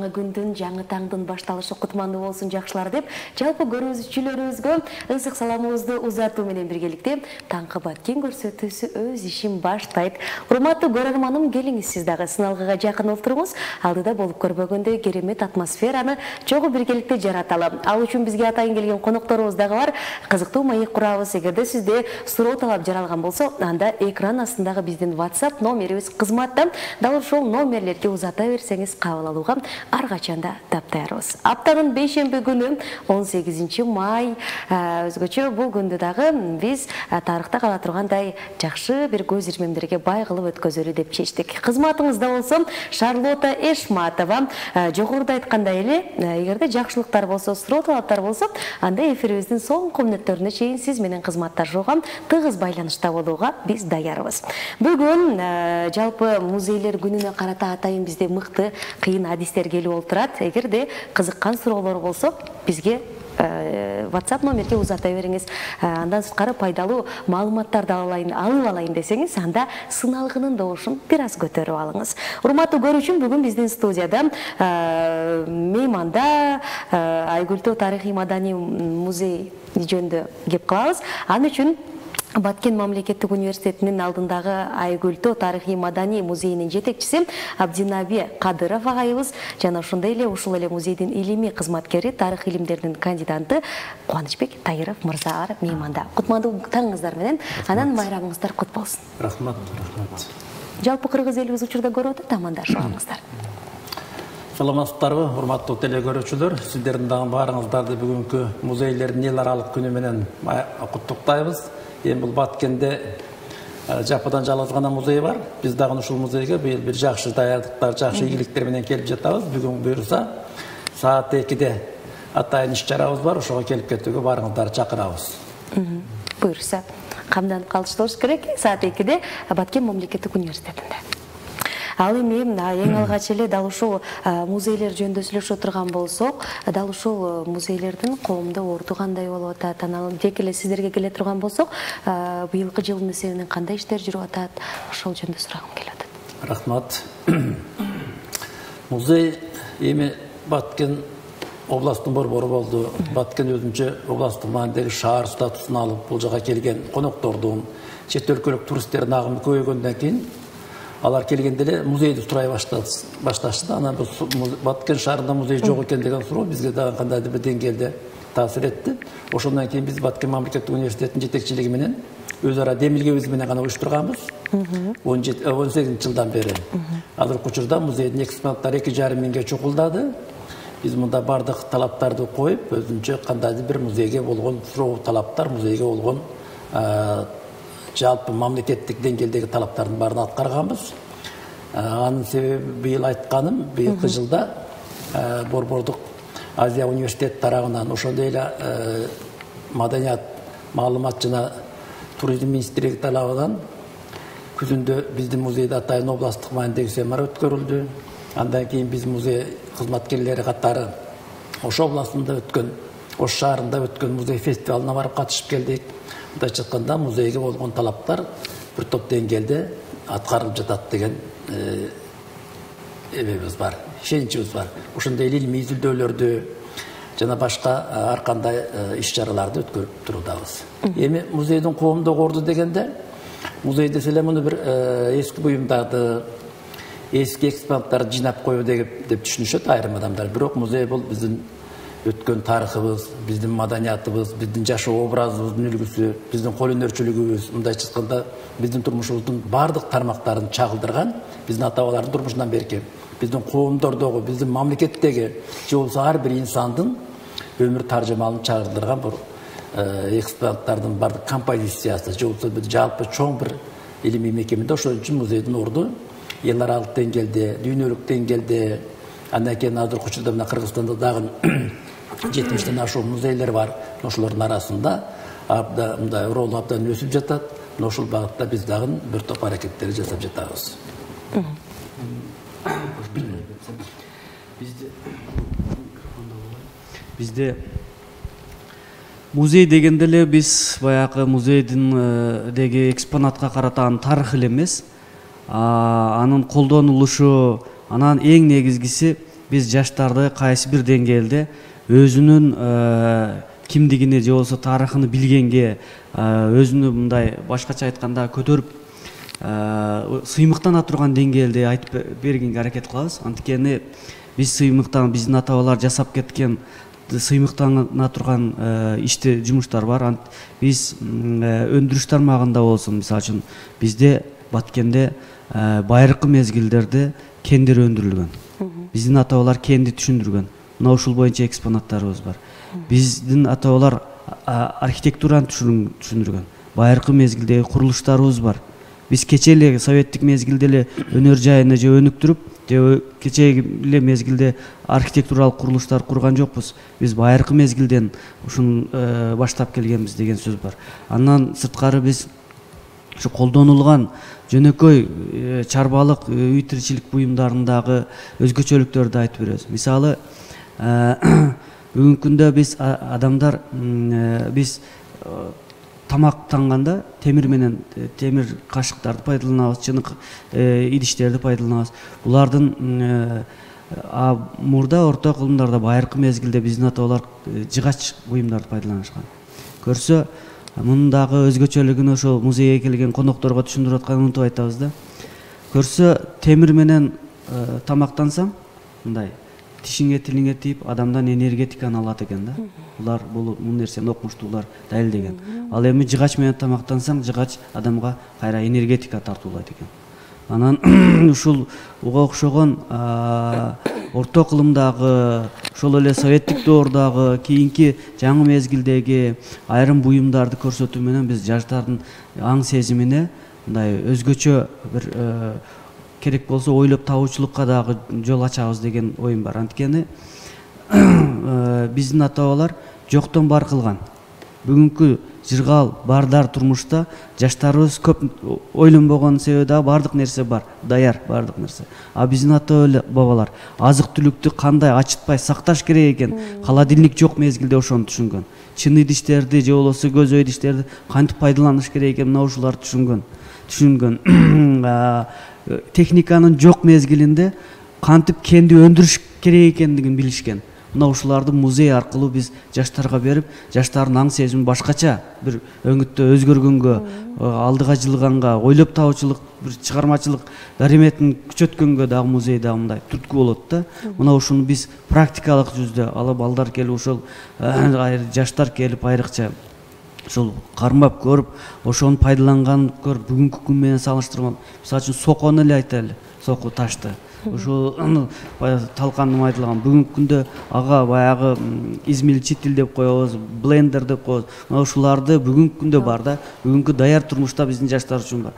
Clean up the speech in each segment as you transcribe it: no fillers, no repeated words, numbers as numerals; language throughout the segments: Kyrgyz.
жаңы күндүн, жаңы таңдын башталышы кутмандуу болсун жакшылар деп, жалпы көрүүчүлөрүбүзгө ысык саламыбызды узатуу менен биргеликте таңкы Баткен көрсөтүүсү өз ишин баштайт. Урматтуу көрөрманым, келиңиз сиз дагы сыналгыга жакын олтуруңуз. Алдыда болуп көрбөгөндөй керемет атмосфераны чогуу биргеликте жараталы. Ал үчүн бизге атайын келген конокторубуз дагы бар. Кызыктуу маек курабыз. Эгерде сизде суроо талап жаралган болсо, анда экран астындагы биздин WhatsApp номерибиз кызматта. Дал ошол номерлерге узата берсеңиз кабыл алууга ар качан да таптайбыз. Аптанын бейшемби күнү 18 май, өзгөчө бул күндү дагы биз тарыхта кала тургандай жакшы бир көз ирмемдерге бай кылып өткөзөлү деп чечтик. Кызматыңызда болсо Шарлота Эшматова. Жогоруда айткандай эле, эгерде жакшылыктар болсо, суроо талаптар болсо, анда эфирибиздин соңку мүнөттөрүнө чейин сиз менен кызматташууга, тыгыз байланышта болууга биз даярбыз. Бүгүн жалпы музейлер күнүнө карата атайын бизде мыкты, кыйын адистер келип олтурат. Эгерде кызыккан суроолор болсо, бизге WhatsApp номерге узата бериңиз. Андан сырткары пайдалуу маалыматтарды алып алайын десеңиз, анда сыналгынын добушун бир аз көтөрүп алыңыз. Урматтуу көрүүчүм, бүгүн биздин студияда мейманда Айгөлтөө тарыхый маданий музей жөнүндө кеп кылабыз. Ал үчүн Баткен мамлекеттик университетинин алдындагы Айгөлтөө тарыхый маданий музейинин жетекчиси Абдинаби Кадыров агайыбыз жана ошондой эле ушул эле музейдин илимий кызматкери, тарых илимдеринин кандидаты Кубанычбек Тайыров мырза бар мейманда. Кутмандуу таңыңыздар менен, анан майрамыңыздар кут болсун. Рахмат. Жалпы кыргыз элибиз учурда көрүп атат, амандашабыңыздар. Саламатсыздарбы, урматтуу телекөрүүчүлөр, сиздердин дагы баарыңыздарды бүгүнкү музейлердин эл аралык күнү менен куттуктайбыз. Эми бул Баткенде жападан жалгыз гана музей бар. Биз дагы ушул музейге быйыл бир жакшы даярдыктар, жакшы ийгиликтер менен келип жатабыз. Бүгүн буюрса саат 2-де атайын иш-чарабыз бар. Ошого келип кетүүгө баарыңыздарды чакырабыз. Буюрса камданып калыштырыш керек. Саат 2-де Баткен мамлекеттик университетинде. Ал эми эң алгач эле дал ушул музейлер жөнүндө сүйлөшө турган болсок, дал ушул музейлердин коомдо орду кандай болуп атат, анан тек эле сиздерге келе турган болсок, быйылкы жылдын эсебинен кандай иштер жүрүп атат, ошол жөнүндө сурагым келип атат. Рахмат. Музей эми Баткен областтын борбору болду. Баткен өзүнчө областтык маанидеги шаар статусун алып, бул жака келген коноктордун, чет өлкөлүк туристтердин агымы көбөйгөндөн кийин алар келгенде эле музейди сурай башташты. Анан Баткен шаарында музей жок экен деген суроо бизге дагы кандайдыр бир деңгээлде таасир этти. Ошондон кийин биз Баткен мамлекеттик университетинин жетекчилиги менен өз ара демилгебиз менен гана уюштурганбыз. 18 жылдан бери. Азыркы учурда музейдин экспонаттары 2,5 миңге чукулдады. Биз мында бардык талаптарды коюп, өзүнчө кандайдыр бир музейге болгон суроо талаптар, музейге болгон жалпы мамлекеттик деңгээлдеги талаптардын баарын аткарганбыз. Анын себеби быйыл айтканым, быйылкы жылда Борбордук Азия университет тарабынан, ошондой эле Маданият, маалымат жана туризм министрлиги тарабынан күзүндө биздин музейде атайын областтык маанидеги семинар өткөрүлдү. Андан кийин биз музей кызматкерлери катары Ош областында өткөн, Ош шаарында өткөн музей фестивалына барып катышып келдик. Мындайча айтканда музейге болгон талаптар бир топ деңгээлде аткарылып жатат деген эбебиз бар, ишеничибиз бар. Ошондой эле илимий изилдөөлөрдү жана башка ар кандай иш-чараларды өткөрүп турудабыз. Эми музейдин коомдук орду дегенде, музей десе эле муну бир эски буюмдарды, эски экспонаттарды жыйнап коюу деп түшүнүшөт айрым адамдар. Бирок музей бул биздин өткөн тарыхыбыз, биздин маданиятыбыз, биздин жашоо образыбыздын үлгүсү, биздин кол өнөрчүлүгүбүз, мындайча айтканда биздин турмушубуздун бардык тармактарын чагылдырган, биздин ата-бабалардын турмушунан берки, биздин коомдордогу, биздин мамлекеттеги, же болбосо ар бир инсандын өмүр таржымалын чагылдырган бир экспонаттардын бардык композициясы, же болбосо бир жалпы чоң бир илимий мекемеде. Ошон үчүн музейдин орду эл аралык деңгээлде, дүйнөлүк деңгээлде, андан кийин азыркы учурда мына Кыргызстанда дагы 70-тен ашуун музейлер бар. Ошолордун арасында мындай ролу абдан өсүп жатат. Ошол багытта биз дагы бир топ аракеттер жасап жатабыз. Бизде музей дегенде эле биз баягы музейдин деги экспонатка карата анын тарыхы эле эмес, анын колдонулушу, анан эң негизгиси биз жаштарды кайсы бир деңгээлде өзүнүн кимдигини же болбосо тарыхын билгенге, өзүнү мындай башкача айтканда көтөрүп сыймыктана турган деңгээлде айтып бергенге аракет кылабыз. Анткени биз биздин ата бабалар жасап кеткен сыймыктана турган ишти жумуштар бар. Биз өндүрүш тармагында болсун, мисалы үчүн бизде Баткенде байыркы мезгилдерде кендер өндүрүлгөн. Биздин ата бабалар кенди түшүндүргөн. Мына ушул боюнча экспонаттарыбыз бар. Биздин ата бабалар архитектураны түшүндүргөн. Байыркы мезгилдеги курулуштарыбыз бар. Биз кечээ эле советтик мезгилде эле өнөр жайына же өнүктүрүп, же кечээ эле мезгилде архитектуралык курулуштар курган жокпуз. Биз байыркы мезгилден ушун баштап келгенбиз деген сөз бар. Андан сырткары биз ушу колдонулган жөнөкөй чарбалык үй тиричилик буюмдарындагы өзгөчөлүктөрдү айтып беребиз. Мисалы, бүгүнкү күндө биз адамдар биз тамактанганда темир кашыктарды пайдаланабыз, чынык идиштерди пайдаланабыз. Булардын мурда орто кылымдарда байыркы мезгилде биздин ата бабалар жыгач буюмдарды пайдаланышкан. Көрсө, мунун дагы өзгөчөлүгүн ошол музейге келген конокторго түшүндүрүп атканын унутуп айтабыз да. Көрсө, темир менен тамактансаң, мындай тишиңе тилиңе тийип адамдан энергетиканы алат экен да. Бул нерсени окумуштуулар далилдеген. Ал эми жыгач менен тамактансаң, жыгач адамга кайра энергетика тартуулайт экен. Анан ушул уга окшогон орто кылымдагы, ошол эле советтик доордагы, кийинки жаңы мезгилдеги айрым буюмдарды көрсөтүү менен биз жаштардын аң сезимине мындай өзгөчө бир керек болсо ойлоп табуучулукка дагы жол ачабыз деген оюм бар. Анткени биздин ата бабалар жоктон бар кылган. Бүгүнкү жыргал бардар турмушта жаштарыбыз көп ойлонбогон себеби дагы бардык нерсе бар, даяр бардык нерсе. А биздин ата бабалар азык түлүктү кандай ачытпай сакташ керек экен, холодильник жок мезгилде ошону түшүнгөн. Чын идиштерди же болбосо көзөй идиштерди кантип пайдаланыш керек экен, мына ушуларды түшүнгөн. Техниканын жок мезгилинде кантип кенди өндүрүш керек экендигин билишкен. Мына ушуларды музей аркылуу биз жаштарга берип, жаштардын аң сезими башкача бир өңүттө өзгөргөнгө, алдыга жылганга, ойлоп табуучулук, бир чыгармачылык дареметин күчөткөнгө дагы музей дагы мындай түрткү болот да. Мына ушуну биз практикалык жүздө алып балдар келип, ошол жаштар келип айрыкча ошол кармап көрүп, ошону пайдаланган көрүп, бүгүнкү күн менен салыштырмак. Мисалы үчүн сокону эле айтайлы, соку ташты. Ошол талканды майдалаган. Бүгүнкү күндө ага баягы измельчитель деп коебуз, блендер деп коебуз. Мына ушуларды бүгүнкү күндө бар да. Бүгүнкү даяр турмушта биздин жаштар үчүн бар.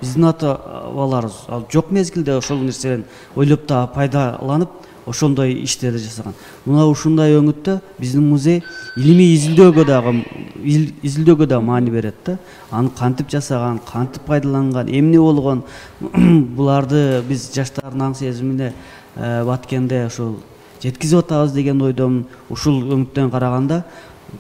Биздин ата бабаларыбыз ал жок мезгилде ошол нерседен ойлоп та пайдаланып, ошондой иштерди жасаган. Мына ушундай өңүттө биздин музей илимий изилдөөгө да маани берет да. Аны кантип жасаган, кантип пайдаланган, эмне болгон, буларды биз жаштардын аң сезимине Баткенде ошол жеткизип атабыз деген ойдомун. Ушул өңүттөн караганда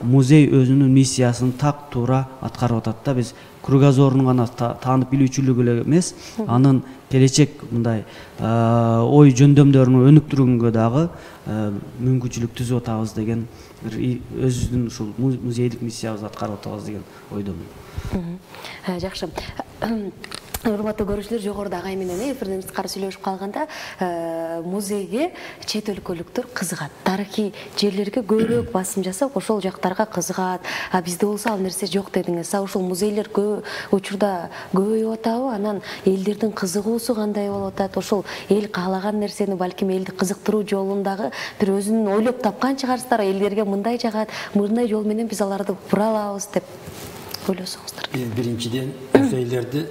музей өзүнүн миссиясын так туура аткарып атат да. Биз кругозорун гана таанып билүүчүлүгү эле эмес, анын келечек мындай ой жөндөмдөрүн өнүктүргөнгө дагы мүмкүнчүлүк түзүп атабыз деген өзүбүздүн ушул музейдик миссиябызды аткарып атабыз деген ойдомун. Жакшы. Урматтуу көрүүчүлөр, жогоруда агай менен эфирден сырткары сүйлөшүп калганда, музейге чет өлкөлүктөр кызыгат. Тарыхый жерлерге көбүрөөк басым жасап, ошол жактарга кызыгат. Бизде болсо ал нерсе жок дедиңиз. Ушул музейлер көп учурда көбөйүп атабы? Анан элдердин кызыгуусу кандай болуп атат? Ошол эл каалаган нерсени балким элди кызыктыруу жолундагы бир өзүнүн ойлоп тапкан чыгарсыздар. Элдерге мындай жагат, мындай жол менен биз аларды бура алабыз деп ойлосоңуздар. Биз биринчиден музейлерди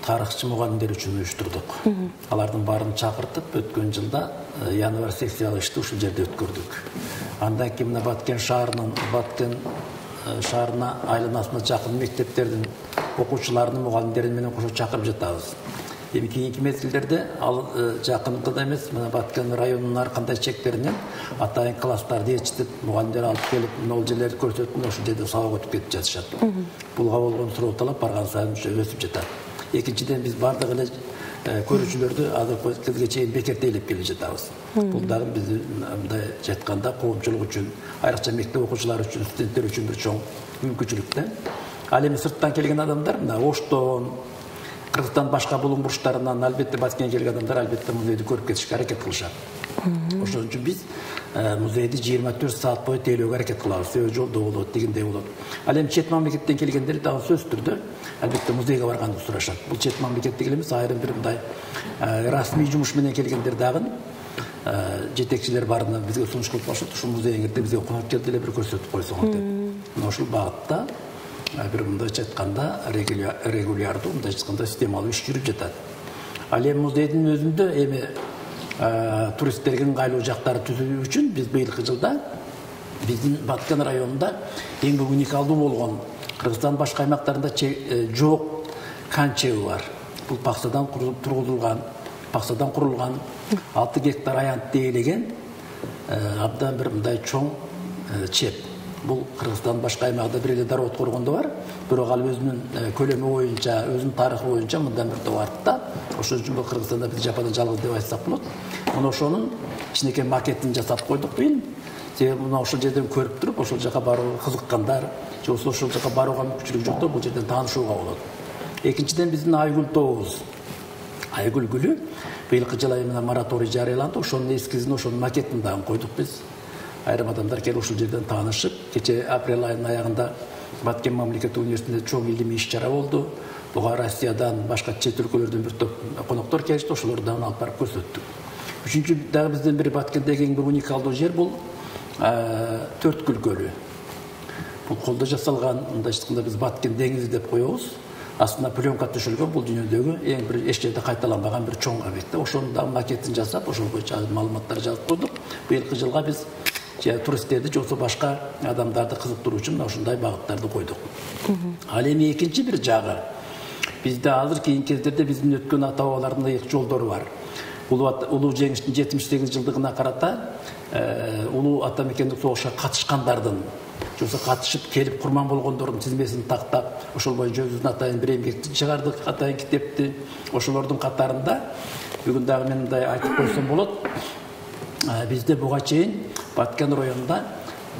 тарыхчы мугалимдер үчүн уюштурдук. Алардын баарын чакыртып, өткөн жылда январь секциялык ишти ушул жерде өткөрдүк. Андан кийин мына Баткен шаарына айланасына жакын мектептердин окуучуларынын мугалимдери менен кошо чакырып жатабыз. Эми кийинки мезгилдерде ал жакынкыда эмес, мына Баткен районунун ар кандай чектеринен атайын класстарды ээрчитип, мугалимдер алып келип, могул жерлерди көрсөтүп, ошол жерде сабак өтүп кетип жатышат. Буга болгон суроо талап барган сайын өсүп жатат. Экинчиден, биз бардык эле көрүүчүлөрдү азыркы кезге чейин бекертейлеп келе жатабыз. Бул дагы биздин мындай жатканда коомчулук үчүн, айрыкча мектеп окуучулары үчүн, студенттер үчүн бир чоң мүмкүнчүлүк да. Ал эми сырттан келген адамдар мына Оштон, Кыргызстан башка булуң бурчтарынан албетте Баткенге келген адамдар албетте музейди көрүп кетишке аракет кылышат. Ошон үчүн биз музейди 24 саат бою тейлөөгө аракет кылабыз. Себеби жолдо болот, дегендей болот. Ал эми чет мамлекеттен келгендер дагы сөзсүз түрдө албетте музейге барганды сурашат. Бул чет мамлекеттик эле эмес, айрым бир мындай расмий жумуш менен келгендер дагы жетекчилер барына бизге сунуш кылып коюшат. Ушул музейиңерде бизге конок келди эле бир көрсөтүп койсоңуз деп. Мына ушул багытта бир мындайча айтканда регулярдуу, мындайча айтканда системалуу иш жүрүп жатат. Ал эми музейдин өзүндө эми туристтерге ыңгайлуу жактарды түзүү үчүн биз быйылкы жылда биздин Баткен районунда эң бир уникалдуу болгон Кыргызстан башка аймактарында жок канчеби бар. Бул паксадан курулган 6 гектар аянтты ээлеген абдан бир мындай чоң чеп. Бул Кыргызстан башка аймагында бир эле Дароот коргондо бар. Бирок ал өзүнүн көлөмү боюнча, өзүнүн тарыхы боюнча мындан бир топ артта. Ошон үчүн бул Кыргызстанда биз жападан жалгыз деп айтсак болот. Мына ошонун кичинекей макетин жасап койдук быйыл. Себеби мына ошол жерден көрүп туруп, ошол жака барууга кызыккандар, же болбосо ошол жака барууга мүмкүнчүлүк жоктор бул жерден таанышууга болот. Экинчиден биздин Айгүл тообуз. Айгүл гүлү быйылкы жылы мына мораторий жарыяланды. Ошонун эскизин, ошонун макетин дагы койдук биз. Айрым адамдар келип ушул жерден таанышып, кече апрель айынын аягында Баткен мамлекеттик университетинде чоң илимий иш-чара болду. Буга Россиядан, башка чет өлкөлөрдөн бир топ коноктор келишти, ошолорду дагы алып барып көрсөттүк. Үчүнчү дагы биздин бир Баткендеги эң бир уникалдуу жер бул Төрткүл көлү. Бул колдо жасалган, мындайча айтканда биз Баткен деңизи деп коебуз. Астына пленка түшүлгөн, бул дүйнөдөгү эң бир эч жерде кайталанбаган бир чоң объект. Ошонун дагы макетин жасап, ошол боюнча маалыматтар жазып койдук. Быйылкы жылга биз туристтерди же болбосо башка адамдарды кызыктыруу үчүн ушундай багыттарды койдук. Ал эми экинчи бир жагы, бизде азыр кийинки кездерде биздин өткөн ата бабалардын ыйык жолдору бар. Улуу жеңиштин 78 жылдыгына карата улуу ата мекендик согушка катышкандардын, же болбосо катышып келип курман болгондордун тизмесин тактап, ошол боюнча өзүбүздүн атайын бир эмгекти чыгардык, атайын китепти. Ошолордун катарында бүгүн дагы мен мындай айтып койсом болот. Бизде буга чейин Баткен районунда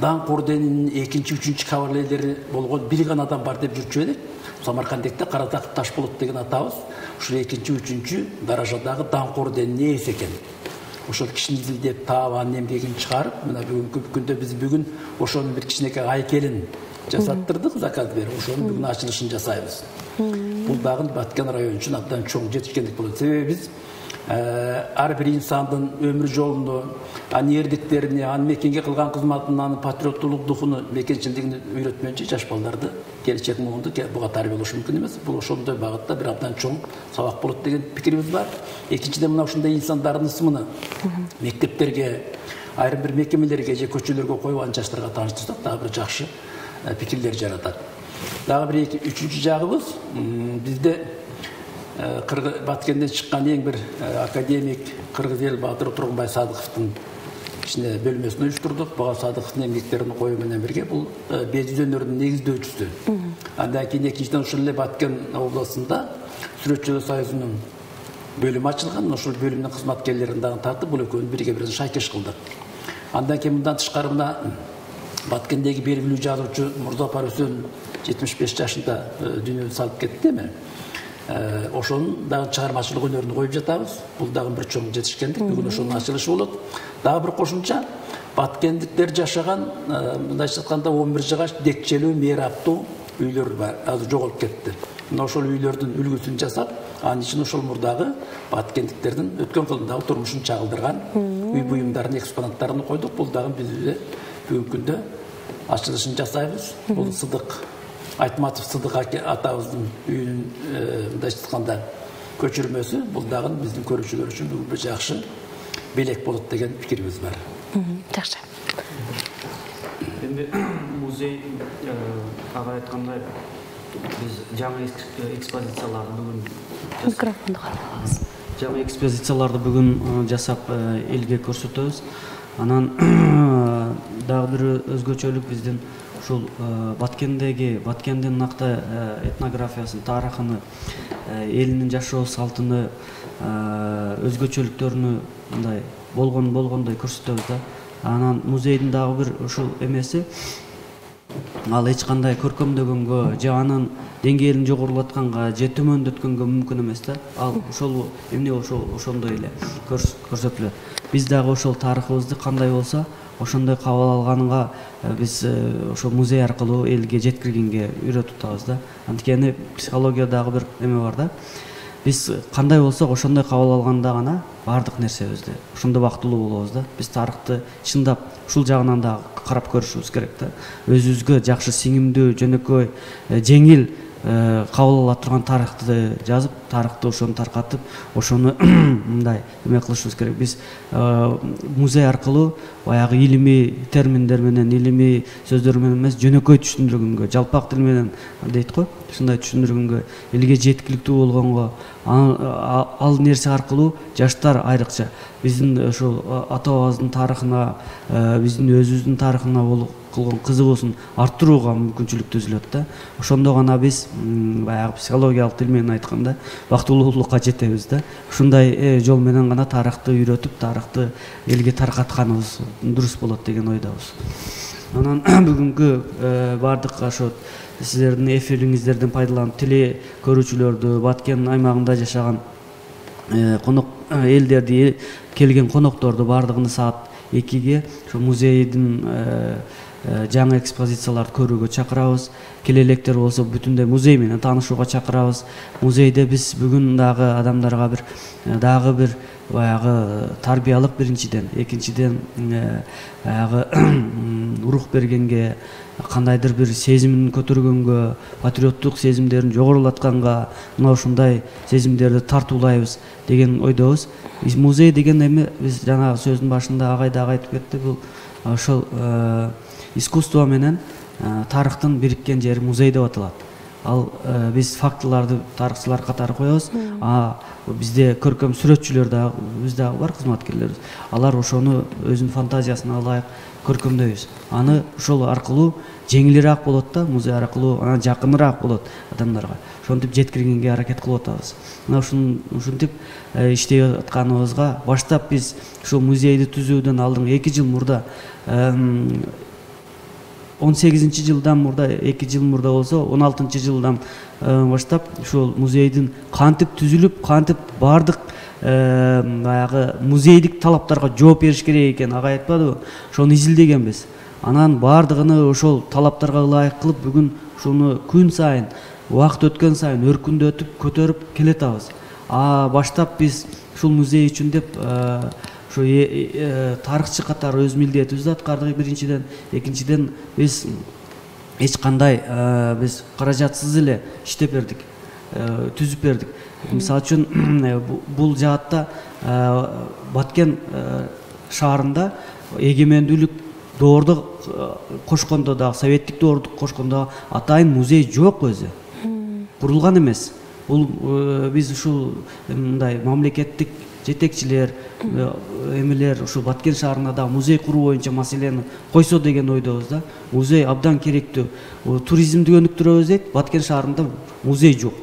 Даңк орденинин 2-3 кавалерлери болгон бир гана адам бар деп жүрчү элек. Самаркандекте Каратак Ташболот деген атабыз ушул 2-3 даражадагы Даңк орденинин ээси экен. Ошол кишини изилдеп таап анын эмгегин чыгарып, мына бүгүнкү күндө биз бүгүн ошонун бир кичинекей айкелин жасаттырдык, заказ берип, ошонун бүгүн ачылышын жасайбыз. Бул дагы Баткен району үчүн абдан чоң жетишкендик болот. Себеби биз ар бир инсандын өмүр жолуну, анын эрдиктерини, анын мекенге кылган кызматын, анын патриоттулук духуну, мекенчилдигин үйрөтмөйчү жаш балдарды келечек муунду буга тарбиялаш мүмкүн эмес. Бул ошондой багытта бир абдан чоң сабак болот деген пикирибиз бар. Экинчиден мына ушундай инсандардын ысымын мектептерге, айрым бир мекемелерге же көчөлөргө коюп анын жаштарга тааныштырсак дагы бир жакшы пикирлер жаратат. Дагы бир үчүнчү жагыбыз, бизде Баткенден чыккан эң бир академик Кыргыз эл баатыры Тургунбай Садыковдун кичине бөлмөсүн уюштурдук. Буга Садыковдун эмгектерин коюу менен бирге бул бет жүз өнөрүнүн негиздөөчүсү. Андан кийин экинчиден ушул эле Баткен областында Сүрөтчүлөр союзунун бөлүмү ачылган. Ошол бөлүмдүн кызматкерлерин дагы тартып, бул экөөнү бирге бир шайкеш кылдык. Андан кийин мындан тышкары мына Баткендеги белгилүү жазуучу Мурзапар Үсөн 75 жашында дүйнөдөн салып кетти эми. Ошонун дагы чыгармачылык өнөрүн коюп жатабыз. Бул дагы бир чоң жетишкендик. Бүгүн ошонун ачылышы болот. Дагы бир кошумча Баткендиктер жашаган, мындайча айтканда 11 жыгач декчелүү, мейраптуу үйлөр бар. Азыр жоголуп кетти. Мына ошол үйлөрдүн үлгүсүн жасап, анын ичине ошол мурдагы Баткендиктердин өткөн кылымдагы турмушун чагылдырган үй буюмдарын, экспонаттарын койдук. Бул дагы биз бүгүнкү күндө ачылышын жасайбыз. Бул Сыдык Айтматов Сыдык атабыздын үйүнүн мындайча айтканда көчүрмөсү. Бул дагы биздин көрүүчүлөр үчүн бүгүн бир жакшы белек болот деген пикирибиз бар. Жакшы. Эми музей ага айткандай биз жаңы экспозицияларды бүгүн микрофонду калабыз. Жаңы экспозицияларды бүгүн жасап элге көрсөтөбүз. Анан дагы бир өзгөчөлүк биздин ушул Баткендин накта этнографиясын, тарыхын, элинин жашоо салтын, өзгөчөлүктөрүн мындай болгондой көрсөтөбүз да. Анан музейдин дагы бир ушул эмеси, ал эч кандай көркөмдөгөнгө же анын деңгээлин жогорулатканга же төмөндөткөнгө мүмкүн эмес да. Ал ошол эмне ошондой эле көрсөтүлөт. Биз дагы ошол тарыхыбызды кандай болсо ошондой кабыл алганга биз ошол музей аркылуу элге жеткиргенге үйрөтүп атабыз да. Анткени психологиядагы бир эме бар да. Биз кандай болсок ошондой кабыл алганда гана баардык нерсебизди ошондо бактылуу болобуз да. Биз тарыхты чындап ушул жагынан дагы карап көрүшүбүз керек да. Өзүбүзгө жакшы сиңимдүү, жөнөкөй, жеңил кабыл ала турган тарыхты жазып, тарыхты ошону таркатып, ошону мындай эме кылышыбыз керек. Биз музей аркылуу баягы илимий терминдер менен, илимий сөздөр менен эмес, жөнөкөй түшүндүргөнгө, жалпак тил менен дейт го, ушундай түшүндүргөнгө, элге жеткиликтүү болгонго, ал нерсе аркылуу жаштар айрыкча биздин ошол ата бабабыздын тарыхына, биздин өзүбүздүн тарыхына кылган кызыгуусун арттырууга мүмкүнчүлүк түзүлөт да. Ошондо гана биз баягы психологиялык тил менен айтканда бактылуулукка жетебиз да. Ушундай жол менен гана тарыхты үйрөтүп, тарыхты элге таркатканыбыз дурус болот деген ойдобуз. Анан бүгүнкү баардык ошо сиздердин эфириңиздерден пайдаланып теле көрүүчүлөрдү, Баткен аймагында жашаган конок элдерди, келген конокторду баардыгын саат 2-ге ошо музейдин жаңы экспозицияларды көрүүгө чакырабыз. Келе электер болсо бүтүндөй музей менен таанышууга чакырабыз. Музейде биз бүгүн дагы адамдарга дагы бир баягы тарбиялык биринчиден, экинчиден баягы рух бергенге, кандайдыр бир сезимин көтөргөнгө, патриоттук сезимдерин жогорулатканга, мына ушундай сезимдерди тартуулайбыз деген ойдобуз. Музей деген эми биз жана сөздүн башында агай дагы айтып кетти, бул ошол искусство менен тарыхтын бириккен жери музей деп аталат. Ал биз фактыларды тарыхчылар катары коебуз. Бизде көркөм сүрөтчүлөр дагы, биз дагы бар кызматкерлерибиз. Алар ошону өзүнүн фантазиясына ылайык көркөмдөйбүз. Аны ошол аркылуу жеңилирээк болот да, музей аркылуу анан жакыныраак болот адамдарга. Ошентип жеткиргенге аракет кылып атабыз. Мына ушинтип иштеп атканыбызга баштап биз ушул музейди түзүүдөн алдыңкы 2 жыл мурда 18-жылдан мурда, 2 жыл мурда болсо 16-жылдан баштап ушул музейдин кантип түзүлүп, кантип баардык баягы музейдик талаптарга жооп бериш керек экен, ага айтпадыбы? Ошону изилдегенбиз. Анан баардыгыны ошол талаптарга ылайык кылып, бүгүн ушуну күн сайын, убакыт өткөн сайын өркүндөтүп, көтөрүп келатабыз. Баштап биз ушул музей үчүн деп ошо тарыхчы катары өз милдетибизди аткардык биринчиден, экинчиден биз эч кандай биз каражатсыз эле иштеп бердик, түзүп бердик. Мисалы үчүн бул жаатта Баткен шаарында эгемендүүлүк доорду кошкондо дагы, советтик доорду кошкондо атайын музей жок өзү. Курулган эмес. Бул биз ушул мындай мамлекеттик жетекчилер, эмелер ушул Баткен шаарына да музей куруу боюнча маселени койсо деген ойдобуз да. Музей абдан керектүү. Туризмди өнүктүрөбүз дейт, Баткен шаарында музей жок.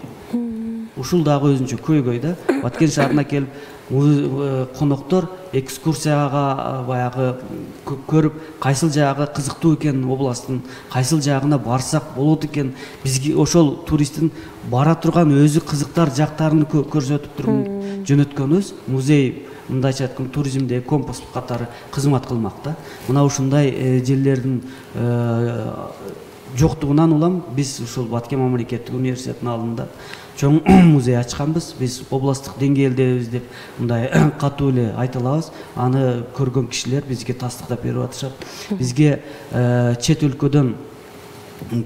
Ушул дагы өзүнчө көйгөй да. Баткен шаарына келип коноктор экскурсияга баягы көрүп, кайсыл жагы кызыктуу экен областтын, кайсыл жагына барсак болот экен, бизге ошол туристтин бара турган өзү кызыктар жактарын көрсөтүп туруп жөнөткөнүбүз. Музей мындайча айтканда туризмдеги компас катары кызмат кылмак да. Мына ушундай жерлердин жоктугунан улам биз ушул Баткен мамлекеттик университетинин алдында чоң музей ачканбыз. Биз областтык деңгээлдебиз деп мындай катуу эле айта алабыз. Аны көргөн кишилер бизге тастыктап берип атышат. Бизге чет өлкөдөн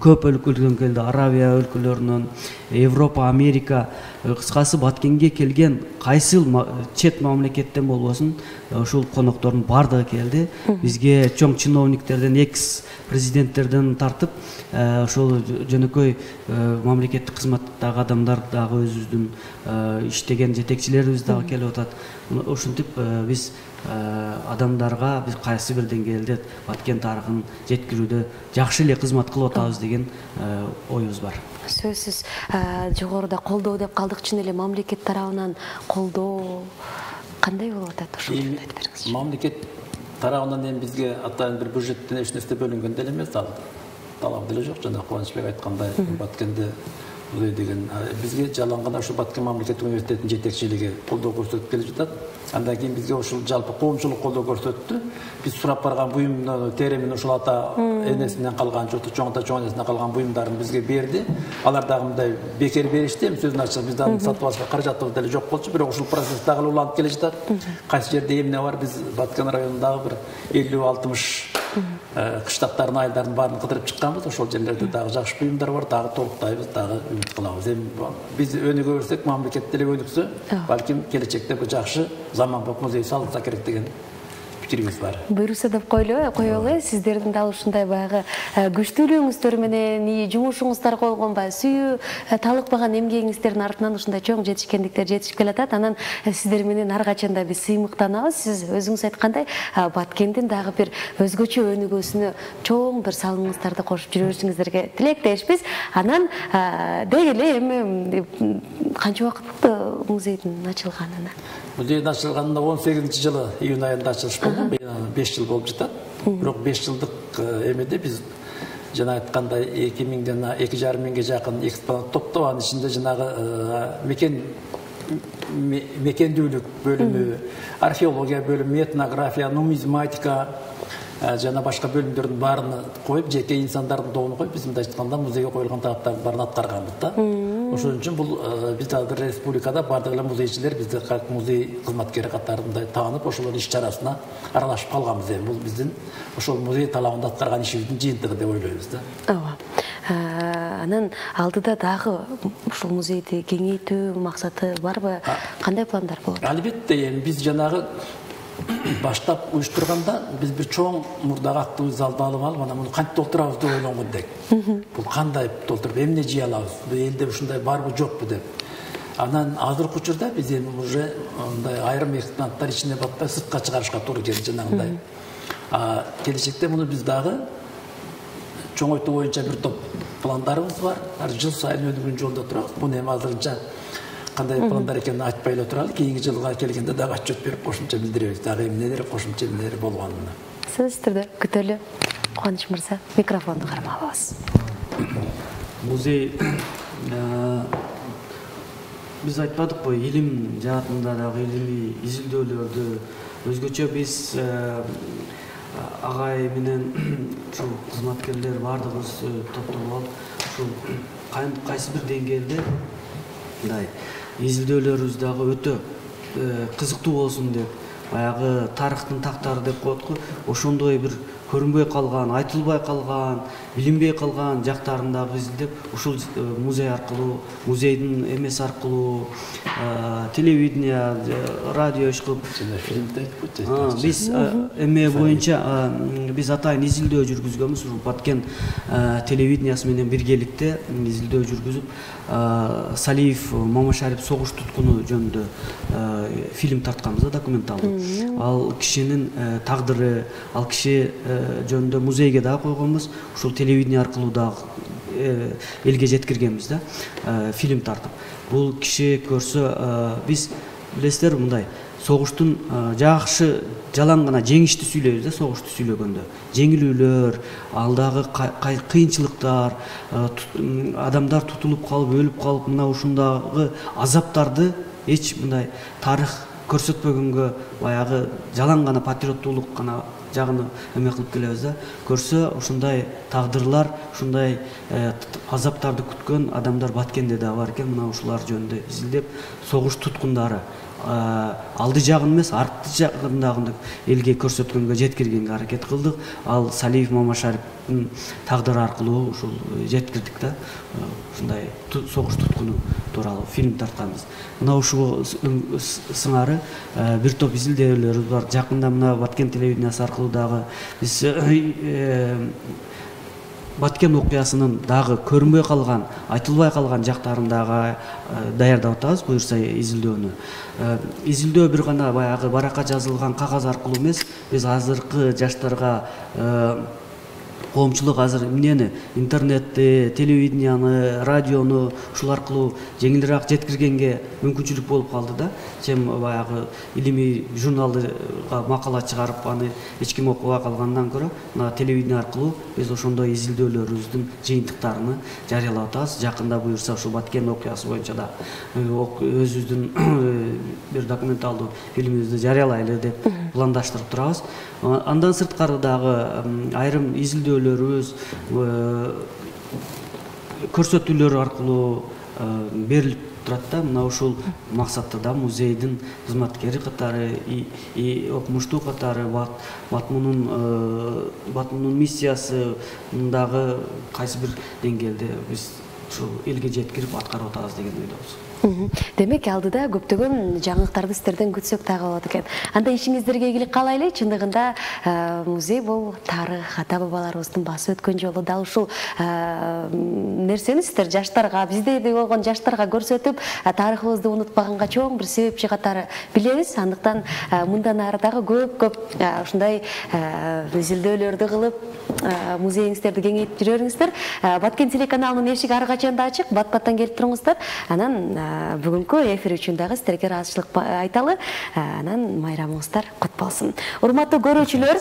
көп өлкөлөрдөн келди, Арабия өлкөлөрүнөн, Европа, Америка кыскасы Баткенге келген кайсыл чет мамлекеттен болбосун ушул коноктордун баардыгы келди. Бизге чоң чиновниктерден, экс президенттерден тартып ошол жөнөкөй мамлекеттик кызматтагы адамдар дагы өзүбүздүн иштеген жетекчилерибиз дагы келип атат. Ушинтип биз адамдарга биз кайсы бир деңгээлде Баткен тарыхын жеткирүүдө жакшы эле кызмат кылып атабыз деген оюбуз бар. Сөзсүз жогоруда колдоо деп калдык, чын эле мамлекет тарабынан колдоо кандай болуп атат ошол жөнүндө айтып бериңизчи. Мамлекет тарабынан эми бизге атайын бир бюджеттен эч нерсе бөлүнгөн деле эмес, талап деле жок. Жана Кубанычбек айткандай Баткенде музей деген бизге жалаң гана ушул Баткен мамлекеттик университетинин жетекчилиги колдоо көрсөтүп келе жатат. Андан кийин бизге ушул жалпы коомчулук колдоо көрсөттү. Биз сурап барган буюмду теремин ушул ата энесинен калган, чоң ата чоң энесинен калган буюмдарын бизге берди. Алар дагы мындай бекер беришти. Эми сөзүн ачык биз дагы сатып алышка каражатыбыз деле жок болчу, бирок ушул процесс дагы уланып келе жатат. Кайсы жерде эмне бар, биз Баткен районундагы бир 50-60 кыштактардын айылдарын баарын кыдырып чыкканбыз. Ошол жерлерде дагы жакшы буюмдар бар, дагы толуктайбыз, дагы үмүт кылабыз. Эми биз өнүгө берсек, мамлекет деле өнүксө, балким келечекте бир жакшы заманбап музей салынса керек деген пикирибиз бар. Буйруса деп коелу, сиздердин дал ушундай баягы күчтүүлүгүңүздөр менен жумушуңуздар болгонбай, сүйүү талыкпаган эмгегиңиздердин артынан ушундай чоң жетишкендиктер жетишип келатат. Анан сиздер менен ар качан да биз сыймыктанабыз. Сиз өзүңүз айткандай, Баткендин дагы бир өзгөчө өнүгүүсүнө чоң бир салымыңыздарды кошуп жүрүшүңүздөргө тилектешпиз. Анан деги эле эми канча убакыт болду музейдин ачылганына? Музейдин ачылганына 18-жылы июнь айында ачылыш болду. 5 жыл болуп жатат. Бирок 5 жылдык эмеде биз жана айткандай 2000ден 2,5 миңге жакын экспонат топтоп, анын ичинде жанагы мекендүүлүк бөлүмү, археология бөлүмү, этнография, нумизматика жана башка бөлүмдөрдүн баарын коюп, жеке инсандардын тобун коюп, биз мындай айтканда музейге коюлган талаптардын баарын аткарганбыз да. Ошон үчүн бул биз азыр республикада бардык эле музейчилер бизди как музей кызматкери катары мындай таанып, ошолор иш чарасына аралашып калганбыз. Бул биздин ошол музей талабында аткарган ишибиздин жыйынтыгы деп ойлойбуз да. Ооба. Анан алдыда дагы ушул музейди кеңейтүү максаты барбы? Кандай пландар болот? Албетте, эми биз жанагы баштап уюштурганда биз бир чоң мурдагы актыбызды залды алып анан муну кантип толтурабыз деп ойлонгон элек. Бул кандай толтуруп, эмне жый алабыз? Бул элде ушундай барбы жокпу деп. Анан азыркы учурда биз эми уже мындай айрым экспонаттар ичине батпай сыртка чыгарышка туура келди жанагындай. Келечекте муну биз дагы чоңойтуу боюнча бир топ пландарыбыз бар. Жыл сайын өнүгүүнүн жолунда турабыз. Муну эми азырынча кандай пландар экенин айтпай эле туралы, кийинки жылга келгенде дагы отчет берип кошумча билдиребиз. Дагы эмнелер, кошумча эмнелер болгонун. Сөзсүз түрдө күтөлү. Кубаныч мырза, микрофонду кармап алабыз. Музей биз айтпадыкпы, илим жаатында дагы илимий изилдөөлөрдү өзгөчө биз агай менен ушул кызматкерлер баардыгыбыз топтолуп алып, ушул кайсы бир деңгээлде мындай изилдөөлөрүбүз дагы өтө кызыктуу болсун деп, баягы тарыхтын тактары деп коет го, ошондой бир көрүнбөй калган, айтылбай калган, билинбей калган жактарын дагы изилдеп, ушул музей аркылуу, музейдин эмеси аркылуу, телевидение, радио иш кылып, биз эме боюнча биз атайын изилдөө жүргүзгөнбүз. Ушул Баткен телевидениясы менен биргеликте изилдөө жүргүзүп, Салиев Мамашарип согуш туткуну жөнүндө фильм тартканбыз да, документалдуу. Ал кишинин тагдыры, ал киши жөнүндө музейге дагы койгонбуз. Ушул телевидение аркылуу дагы элге жеткиргенбиз да, фильм тартып. Бул киши көрсө, биз билесиздер мындай согуштун жакшы жалаң гана жеңиштүү сүйлөйбүз да, согушту сүйлөгөндө. Жеңилүүлөр, алдагы кыйынчылыктар, адамдар тутулуп калып, өлүп калып, мына ушундагы азаптарды эч мындай тарых көрсөтпөгөнгө, баягы жалаң гана патриоттуулук гана жагын эме кылып келебиз да. Көрсө ушундай тагдырлар, ушундай азаптарды күткөн адамдар Баткенде да бар экен. Мына ушулар жөнүндө изилдеп, согуш туткундары, алды жагын эмес арты жагындагы элге көрсөткөнгө жеткиргенге аракет кылдык. Ал Салиев Мамашариптин тагдыры аркылуу ушул жеткирдик да. Ушундай согуш туткуну тууралуу фильм тартканбыз. Мына ушул сыңары бир топ изилдөөлөрүбүз бар. Жакында мына Баткен телевидениясы аркылуу дагы биз Баткен окуясынын дагы көрүнбөй калган, айтылбай калган жактарын дагы даярдап атабыз, буюрса изилдөөнү. Изилдөө бир гана баягы баракка жазылган кагаз аркылуу эмес, биз азыркы жаштарга коомчулук азыр эмнени интернетти, телевиденияны, радиону ушул аркылуу жеңилирээк жеткиргенге мүмкүнчүлүк болуп калды да. Чем баягы илимий журналга макала чыгарып аны эч ким окубай калгандан көрө мына телевидение аркылуу биз ошондой изилдөөлөрүбүздүн жыйынтыктарын жарыялап атабыз. Жакында буюрса ушул Баткен окуясы боюнча да өзүбүздүн бир документалдуу фильмибизди жарыялайлы деп пландаштырып турабыз. Андан сырткары дагы айрым изилдөөлөрүбүз көрсөтүүлөр аркылуу берилип турат да. Мына ушул максатта да музейдин кызматкери катары, окумуштуу катары Батмунун миссиясы дагы кайсы бир деңгээлде биз ушул элге жеткирип аткарып атабыз деген ойдобуз. Демек алдыда көптөгөн жаңылыктарды сиздерден күтсөк дагы болот экен. Анда ишиңиздерге ийгилик каалайлы. Чындыгында музей бул тарых, ата бабаларыбыздын басып өткөн жолу. Дал ушул нерсени сиздер жаштарга, биздей болгон жаштарга көрсөтүп, тарыхыбызды унутпаганга чоң бир себепчи катары билебиз. Андыктан мындан ары дагы көп ушундай изилдөөлөрдү кылып, музейиңиздерди кеңейтип жүрөңүздөр. Баткен телеканалынын эшиги ар качан да ачык. Бат-баттан келип туруңуздар. Анан бүгүнкү эфир үчүн дагы сиздерге ыраазычылык айталы. Анан майрамыңыздар кут болсун. Урматтуу көрүүчүлөр,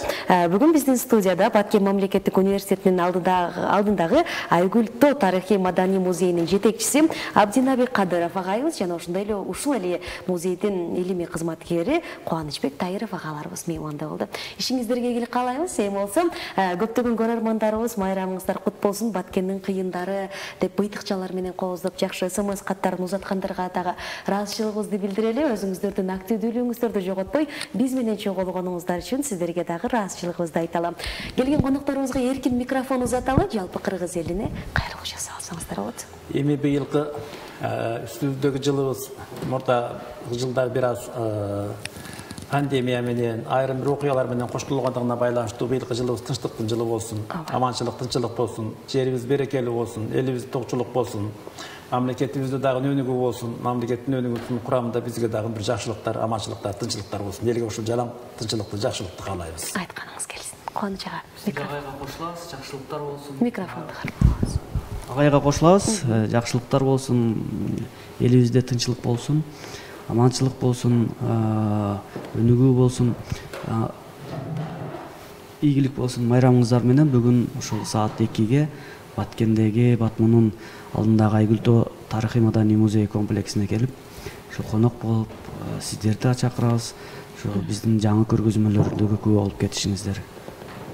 бүгүн биздин студияда Баткен мамлекеттик университетинин алдындагы Айгүл-Тоо тарыхый маданий музейинин жетекчиси Абдинаби Кадыров агайыбыз жана ошондой эле ушул эле музейдин илимий кызматкери Кубанычбек Тайыров агаларыбыз мейманда болду. Ишиңиздерге ийгилик каалайбыз. Эми болсо көптөгөн көрөрмандарыбыз майрамыңыздар кут болсун. Баткендин кыйындары деп быйтыкчалар менен кооздоп жакшы СМС каттарын узаткандарга дагы ыраазычылыгыбызды билдирели. Өзүңүздөрдүн активдүүлүгүңүздөрдү жоготпой биз менен чогулгонуңуздар үчүн сиздерге дагы ыраазычылыгыбызды айталы. Келген конокторубузга эркин микрофон узаталы. Жалпы кыргыз элине кайрылуу жасап алсаңыздар болот. Эми быйылкы үстүбүздөгү жылыбыз мурда жылдар бир аз пандемия менен айрым бир окуялар менен коштолгондугуна байланыштуу быйылкы жылыбыз тынчтыктын жылы болсун, аманчылык, тынччылык болсун, жерибиз берекелүү болсун, элибиз токчулук болсун, мамлекетибизде дагы өнүгүү болсун, мамлекеттин өнүгүүсүнүн курамында бизге дагы бир жакшылыктар, аманчылыктар, тынччылыктар болсун. Элге ушул жалаң тынччылыкты, жакшылыкты каалайбыз. Айтканыңыз келсин. Кубаныч ага, Агайга кошулабыз, жакшылыктар болсун. микрофонду кармаңыз. Агайга кошулабыз, жакшылыктар болсун, элибизде тынччылык болсун, аманчылык болсун, өнүгүү болсун, ийгилик болсун. Майрамыңыздар менен бүгүн ушул саат 2-ге Баткендеги Батмунун алдындагы Айгүл-Тоо тарыхый маданий музей комплексине келип, ошо конок болуп, сиздерди чакырабыз. Ошо биздин жаңы көргөзмөлөрдөгү күбө болуп кетишиңиздер.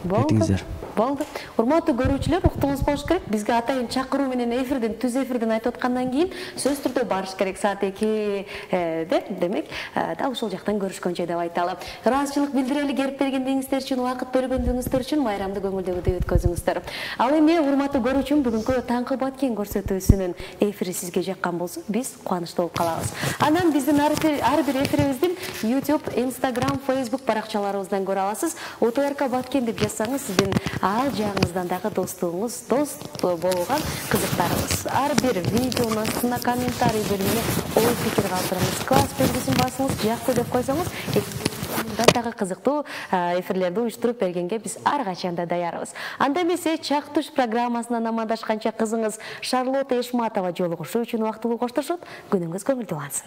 Кетиңиздер. Болду. Урматтуу көрүүчүлөр, уктуңуз болуш керек. Бизге атайын чакыруу менен түз эфирден айтып аткандан кийин сөз түрдө барыш керек саат 2-де. Демек, дал ушул жактан көрүшкөнчө деп айталы. Ыраазычылык билдирели келип бергендигиңиздер үчүн, убакыт бөлгөндүгүңүздөр үчүн майрамды көңүлдөгүдөй өткөзүңүздөр. Ал эми урматтуу көрүүчүм, бүгүнкү таңкы Баткен көрсөтүүсүнүн эфири сизге жаккан болсо, биз кубанычтуу болуп калабыз. Анан биздин ар бир эфирибиздин YouTube, Instagram, Facebook баракчаларыбыздан көрө аласыз. УТРК Баткен деп жазсаңыз, сиздин ал жагыңыздан дагы достугуңуз, дост болгон кызыктарыбыз. Ар бир видеонун астына комментарий бөлүмүнө ой пикир калтырыңыз. Класс белгисин басыңыз, жакты деп койсоңуз, мындан дагы кызыктуу эфирлерди уюштуруп бергенге биз ар качан да даярбыз. Анда эмесе Чак туш программасынан амандашканча кызыңыз Шарлотта Эшматова жолугушуу үчүн убактылуу коштошот. Күнүңүз көңүлдүү болсун.